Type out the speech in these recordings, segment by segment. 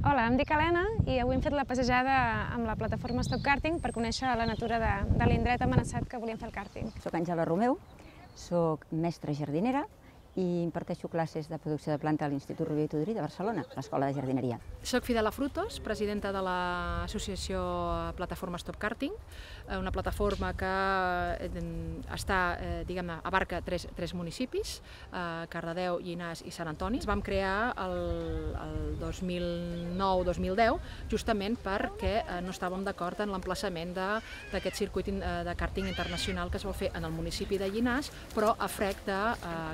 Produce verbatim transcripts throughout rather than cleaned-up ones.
Hola, em dic Helena i avui hem fet la passejada amb la plataforma Stop Karting per conèixer la natura de, de l'indret amenaçat que volíem fer el càrting. Soc Àngela Romeu, soc mestra jardinera i imparteixo classes de producció de planta a l'Institut Rovira i Tudurí de Barcelona, l'Escola de Jardineria. Soc Fidela Frutos, presidenta de l'associació Plataforma Stop Karting, una plataforma que està, diguem-ne, abarca tres, tres municipis, Cardedeu, Llinars i Sant Antoni. Ens vam crear el, el dos mil nou dos mil deu justament perquè no estàvem d'acord en l'emplaçament d'aquest circuit de kàrting internacional que es vol fer en el municipi de Llinars, però a frec de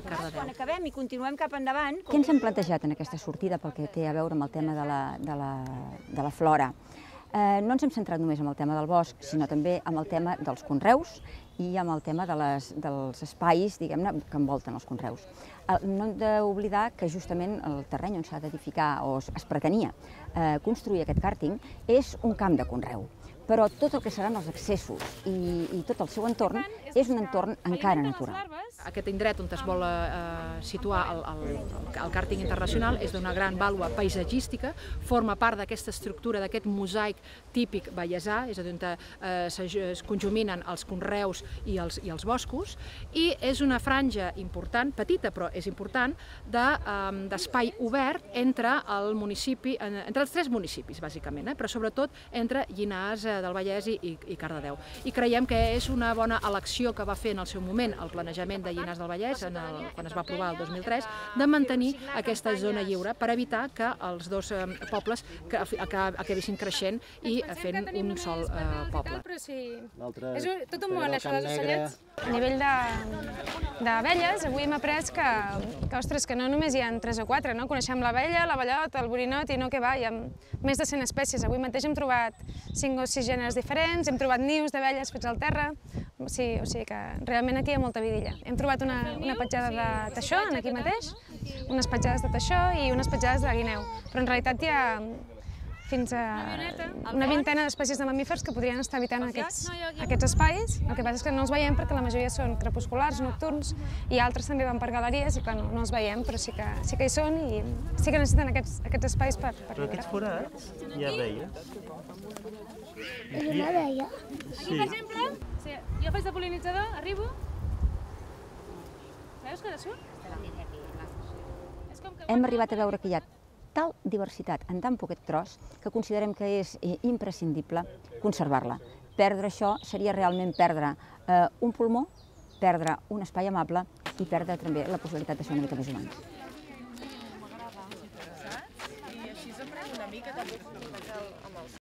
Cardedeu. Quan acabem i continuem cap endavant... Què ens hem plantejat en aquesta sortida pel que té a veure amb el tema de la, de la, de la flora? Eh, no ens hem centrat només en el tema del bosc, sinó també en el tema dels conreus i amb el tema de les, dels espais, diguem-ne, que envolten els conreus. No hem d'oblidar que justament el terreny on s'ha d'edificar o es pretenia eh, construir aquest càrting és un camp de conreu, però tot el que seran els accessos i, i tot el seu entorn és un entorn encara natural. Aquest indret on es vol eh, situar el, el, el càrting internacional és d'una gran vàlua paisatgística, forma part d'aquesta estructura, d'aquest mosaic típic vallesà, és a dir, on eh, es conjuminen els conreus i els, i els boscos, i és una franja important, petita però és important, d'espai de, obert entre el municipi, entre els tres municipis, bàsicament, eh, però sobretot entre Llinars del Vallès i, i Cardedeu. I creiem que és una bona elecció que va fer en el seu moment el planejament de Llinars del Vallès, en el, quan es va aprovar el dos mil tres, de mantenir aquesta zona lliure per evitar que els dos eh, pobles que, que acabessin creixent i fent un sol eh, poble. És tot un món, això dels ocellets. A nivell d'abelles, avui hem après que, que, ostres, que no només hi ha tres o quatre, no? Coneixem l'abella, l'abellot, el borinot i no que va, hi ha més de cent espècies. Avui mateix hem trobat cinc o sis gèneres diferents, hem trobat nius d'abelles fets al terra, sí, o sigui que realment aquí hi ha molta vidilla. Hem trobat una, una petjada de teixó aquí mateix, unes petjades de teixó i unes petjades de guineu, però en realitat hi ha fins a una vintena d'espècies de mamífers que podrien estar habitant aquests, aquests espais. El que passa és que no els veiem perquè la majoria són crepusculars, nocturns, i altres també van per galeries i que no, no els veiem, però sí que, sí que hi són i sí que necessiten aquests, aquests espais per, per Però aquests forats hi ha abelles? És una abella. Aquí, per exemple, sí, jo faig de pol·linitzador, arribo. Veus que de surt? Hem arribat a veure que hi ha tal diversitat en tan poquet tros que considerem que és imprescindible conservar-la. Perdre això seria realment perdre eh, un pulmó, perdre un espai amable i perdre també la possibilitat de ser una mica més humans. I així s'aprèn una mica també.